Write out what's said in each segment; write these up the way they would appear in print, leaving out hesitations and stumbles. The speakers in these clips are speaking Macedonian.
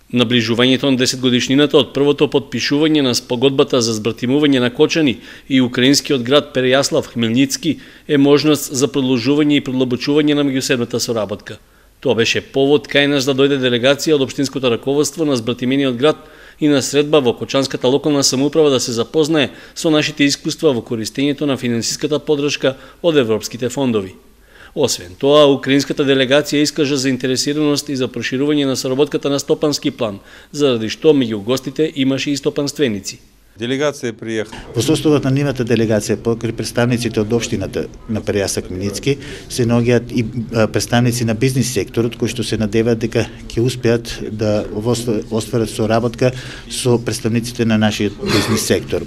Наближувањето на 10 годишнината од првото потпишување на спогодбата за збратимување на Кочани и украинскиот град Перејаслав Хмелницки е можност за продолжување и продлабочување на меѓусебната соработка. Тоа беше повод кај нас да дојде делегација од општинското раководство на збратимениот град и на средба во Кочанската локална самоуправа да се запознае со нашите искуства во користењето на финансиската поддршка од европските фондови. Освен тоа, украинската делегација искажа заинтересираност и за проширување на соработката на стопански план, заради што меѓу гостите имаше и стопанственици. Делегација приеха. Во составот на нивната делегација, покрај представниците од општината на Перејаслав Хмелницки, се наоѓаат и представници на бизнис секторот кои што се надеваат дека ќе успеат да остварат соработка со представниците на нашиот бизнис сектор.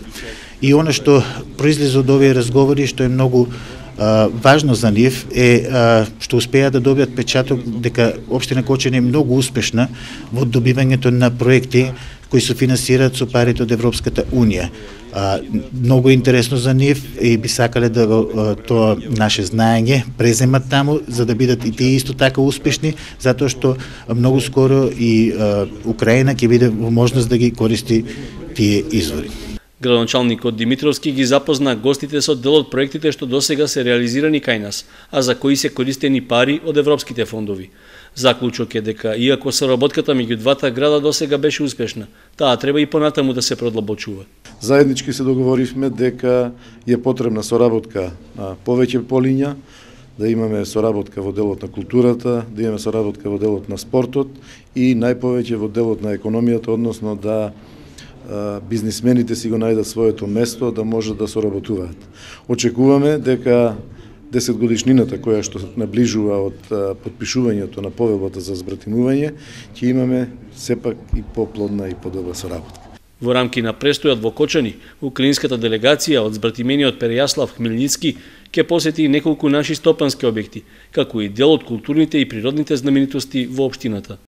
И она што произлезе од овие разговори, што е многу важно за нив е што успеа да добијат печаток дека општина Кочани е многу успешна во добивањето на проекти кои се финансираат со парите од Европската унија. Многу интересно за нив и би сакале да тоа наше знаење преземат таму за да бидат и тие исто така успешни, затоа што многу скоро и Украина ќе биде во можност да ги користи тие извори. Градоначалникот Димитровски ги запозна гостите со дел од проектите што досега се реализирани кај нас, а за кои се користени пари од европските фондови. Заклучок е дека, иако соработката меѓу двата града досега беше успешна, таа треба и понатаму да се продлабочува. Заеднички се договоривме дека е потребна соработка на повеќе полиња, да имаме соработка во делот на културата, да имаме соработка во делот на спортот и најповеќе во делот на економијата, односно да бизнисмените си го најдат своето место да можат да соработуваат. Очекуваме дека 10 годишнината која што наближува од потпишувањето на повелбата за збратимување, ќе имаме сепак и поплодна и подобра соработка. Во рамки на престојот во Кочани, украинската делегација од збратимениот Перејаслав Хмелницки ќе посети неколку наши стопански објекти, како и дел од културните и природните знаменитости во општината.